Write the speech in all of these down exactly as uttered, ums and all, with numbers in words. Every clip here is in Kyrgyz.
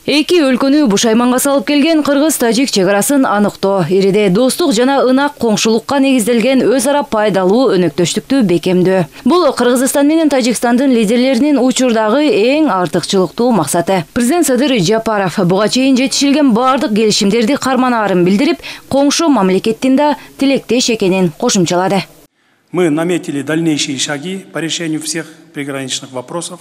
Эки өлкөнү бушайманга салып келген кыргыз-тажик чек арасын аныктоо, ириде достук жана ынак коңшулукка негизделген өз ара пайдалуу өнөктөштүктү бекемдөө. Бул Кыргызстан менен Тажикстандын лидерлеринин учурдагы эң артыкчылыктуу максаты. Президент Садыр Жапаров буга чейин жетишилген бардык келишимдерди карманаарын билдирип, коңшу мамлекеттин да тилектеш экенин кошумчалады. Мы наметили дальнейшие шаги по решению всех приграничных вопросов.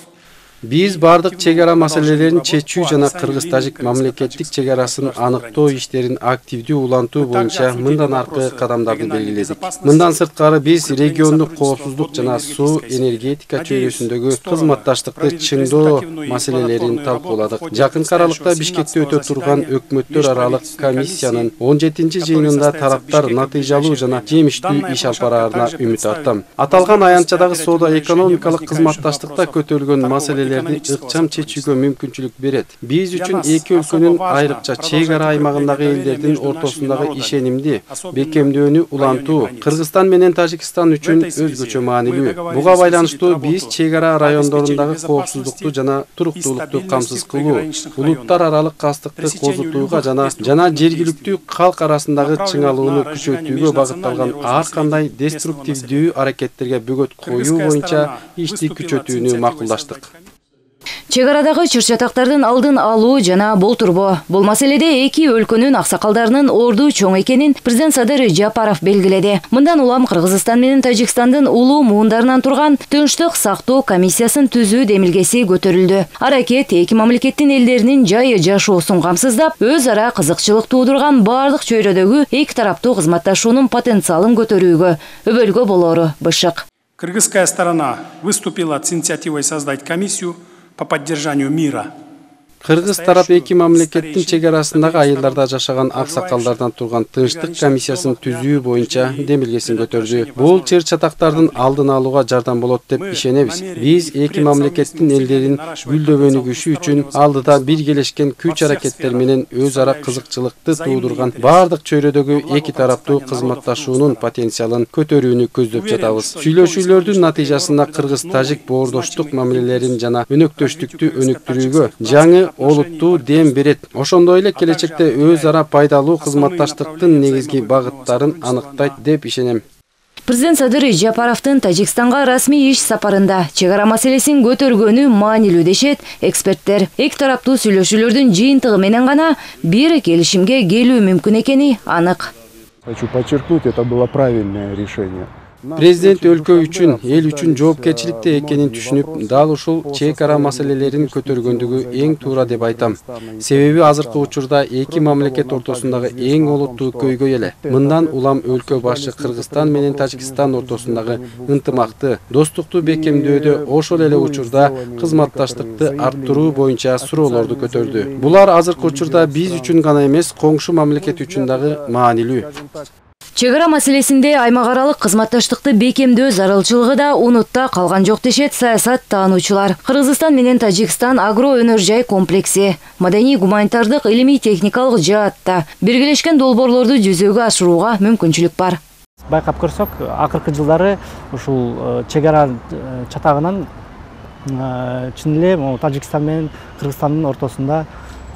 Биз бардык чек ара маселелерин чечүү жана кыргыз-тажик мамлекеттик чек арасын аныктоо иштерин активдүү улантуу боюнча мындан аркы кадамдарды белгиледик. Мындан сырткары биз региондук коопсуздук жана суу энергетика чөйрөсүндөгү кызматташтыкты чыңдоо маселелерин талкууладык. Жакынкы аралыкта Бишкекте өтө турган өкмөттөр аралык комиссиянын он жетинчи жыйынында тараптар натыйжалуу жана жемиштүү иш алып бараарына үмүт артам. Аталган аянтчадагы соода-экономикалык кызматташтыкта көтөрүлгөн маселелер ыкчам чечүүгө мүмкүнчүлүк берет. Биз үчүн эки өлкөнүн айрыкча чек ара аймагындагы элдердин ортосундагы ишенимди бекемдөөнү улантуу Кыргызстан менен Тажикстан үчүн өзгөчө маанилүү. Буга байланыштуу биз чек ара райондорундагы коопсуздукту жана туруктуулукту камсыз кылуу, улуттар аралык кастыкты козутууга жана жана жергиликтүү калк арасындагы чыңалууну күчөтүүгө багытталган ар кандай деструктивдүү аракеттерге бөгөт коюу боюнча ишти күчөтүүнү макулдаштык. Чек арадагы чыр-чатактардын алдын алуу жана болтурбоо. Бул маселеде эки өлкөнүн аксакалдарынын орду чоң экенин президент Садыр Жапаров белгиледи. Мындан улам Кыргызстан менен Тажикстандын улуу муундарынан турган Тынчтык сактоо комиссиясын түзүү демилгеси көтөрүлдү. Аракет эки мамлекеттин элдеринин жайы жашоосун камсыздап, өз ара кызыкчылык туудурган бардык чөйрөдөгү эки тараптуу кызматташуунун потенциалын көтөрүүгө, өбөлгө болору бышык. Кыргызская сторона выступила с инициативой создать комиссию по поддержанию мира. Кыргыз тарап эки мамлекеттин чек арасындагы айылдарда жашаган аксакалдардан турган Тынчтык комиссиясын түзүү боюнча демилгесин көтөрдү. Бул чыр-чатактардын алдын алууга жардам болот деп ишенебиз. Биз эки мамлекеттин элдерин гүлдөө-өнүгүшү үчүн алдыда биргелешкен күч-аракеттер менен өз ара кызыкчылыкты туудурган бардык чөйрөдөгү эки тараптуу кызматташуунун потенциалын көтөрүүнү көздөп жатабыз. Сүйлөшүүлөрдүн натыйжасында кыргыз-тажик боордоштук мамилелерин жана өнөктөштүктү өнүктүрүүгө жаңы олуттуу дем берет. Ошондой эле келечекте өз ара пайдалуу кызматташтыктын негизги багыттарын аныктайт деп ишенем. Президент Садыр Жапаровдун Тажикстанга расмий иш сапарында чек ара маселесин көтөргөнү маанилүү дешет эксперттер. Эки тараптуу сүйлөшүүлөрдүн жыйынтыгы менен гана бир келишимге келүү мүмкүн экени анык. Хочу подчеркнуть, это было правильное решение. Президент өлкө үчүн, эл үчүн жоопкерчиликте экенин түшүнүп, дал ушул чек ара маселелерин көтөргөндүгү эң туура деп айтам. Себеби азыркы учурда эки мамлекет ортосундагы эң олуттуу көйгөй эле. Мындан улам өлкө башы Кыргызстан менен Тажикстан ортосундагы ынтымакты, достукту бекемдөөдө ошол эле учурда кызматташтыкты арттыруу боюнча суроолорду көтөрдү. Булар азыркы учурда биз үчүн гана эмес, коңшу мамлекет үчүн дагы маанилүү. Чек ара маселесинде аймак аралык кызматташтыкты бекемдөө зарылчылыгы да унутта калган жок дешет саясат таануучулар. Кыргызстан менен Тажикстан агро өнөр жай комплекси, маданий гуманитардык илимий техникалык жаатта биргелешкен долбоорлорду жүзөгө ашырууга мүмкүнчүлүк бар. Байкап көрсөк, акыркы жылдары ушул чек ара чатагынан чын эле Тажикстан менен Кыргызстандын ортосунда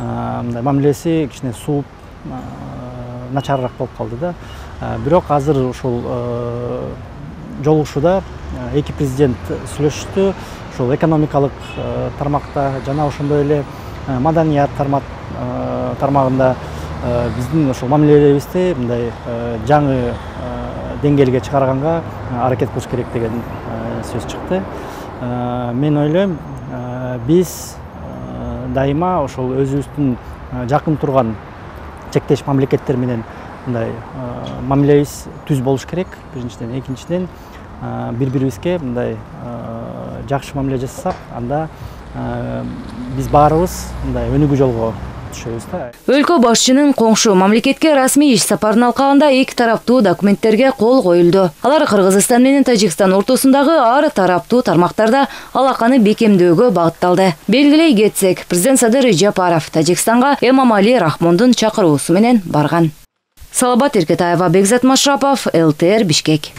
мындай мамилеси кичине сууп начарыраак болуп калды да. Бирок азыр ушул жолугушууда эки президент сүйлөшүштү. Ушул экономикалык тармакта жана ошондой эле маданият тармагында биздин ошол мамилелерибизди мындай жаңы деңгээлге чыгарганга аракет кылыш керек деген сөз чыкты. Мен ойлойм, биз дайыма ошол өзүбүздүн жакын турган чектеш мамлекеттер менен мындай мамилебиз түз болуш керек. Биринчиден, экинчиден бири-бирибизге мындай жакшы мамиле жасасак, анда биз баарыбыз мындай өнүгүү жолго түшөбүз да. Өлкө башчынын коңшу мамлекетке расмий иш сапарынын алкагында эки тараптуу документтерге кол коюлду. Алар Кыргызстан менен Тажикстан ортосундагы ар тараптуу тармактарда алаканы бекемдөөгө багытталды. Белгилей кетсек, президент Садыр Жапаров Тажикстанга Эмомали Рахмондун чакыруусу менен барган. Салабат Эркетаева, Бекзат Машрапов, эл тэ эр Бишкек.